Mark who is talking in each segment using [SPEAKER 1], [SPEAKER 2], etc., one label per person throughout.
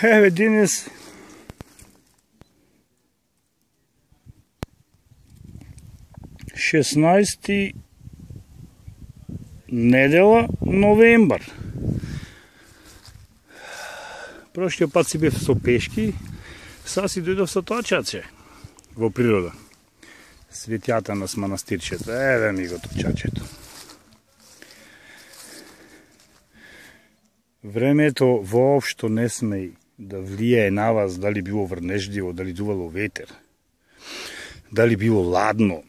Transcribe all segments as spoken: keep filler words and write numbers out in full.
[SPEAKER 1] Еве денес шеснаести недела новембар. Прошлиот пат си бев со пешки, сега си дојдов со точаче во природа. Светјата нас манастирчето, еве ми го точачето. Времето воопшто не сме да влијае на вас, дали било врнежливо, дали дувало ветер, дали било ладно.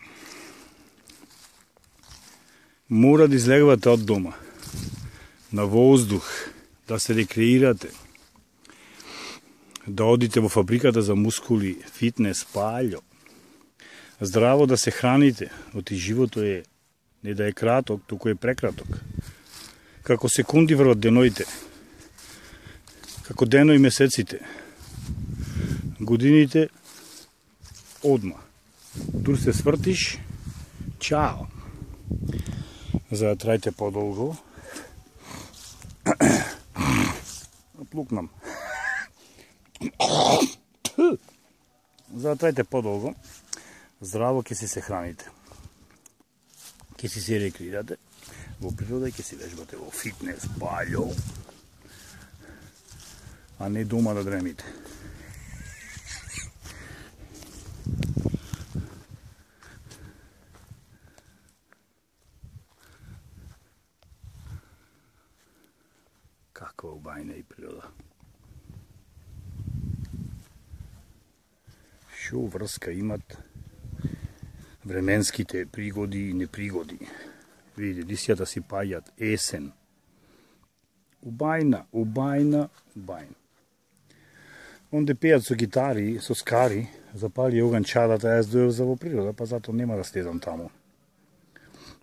[SPEAKER 1] Мора да излегвате од дома, на воздух, да се рекреирате, да одите во фабриката за мускули, фитнес, паљо, здраво да се храните, оти живото е не да е краток, туку е прекраток. Како секунди врват деноите, како дено и месеците, годините одма. Дур се свртиш, чао. За да трајте подолго, плукнам. За да трајте подолго, здраво ќе си се храните. Ќе си се рекреирате во природа и ќе си вежбате во фитнес, паљо, а не дома да дремите. Каква убајна и природа. Шо врска имат временските пригоди и непригоди. Видите, лисјата си паѓат, есен. Убајна, убајна, убајна. Онде пеат со гитари, со скари, запали оган чадата, јас дојав за во природа, па зато нема да слезам таму.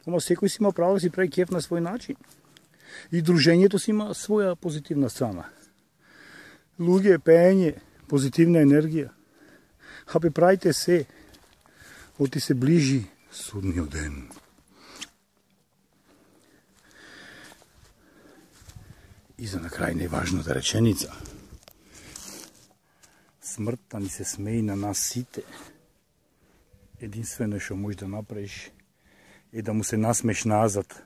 [SPEAKER 1] Ама секој си има право да си прави кеф на свој начин. И дружењето си има своја позитивна страна. Луѓе, пеење, позитивна енергија. Хапе, правите се, оти се ближи судниот ден. И за на крај најважната реченица. Смртта ни се смеи на нас сите. Единствено што можеш да направиш е да му се насмеш назад.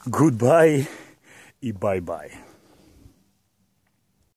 [SPEAKER 1] Goodbye и bye-bye.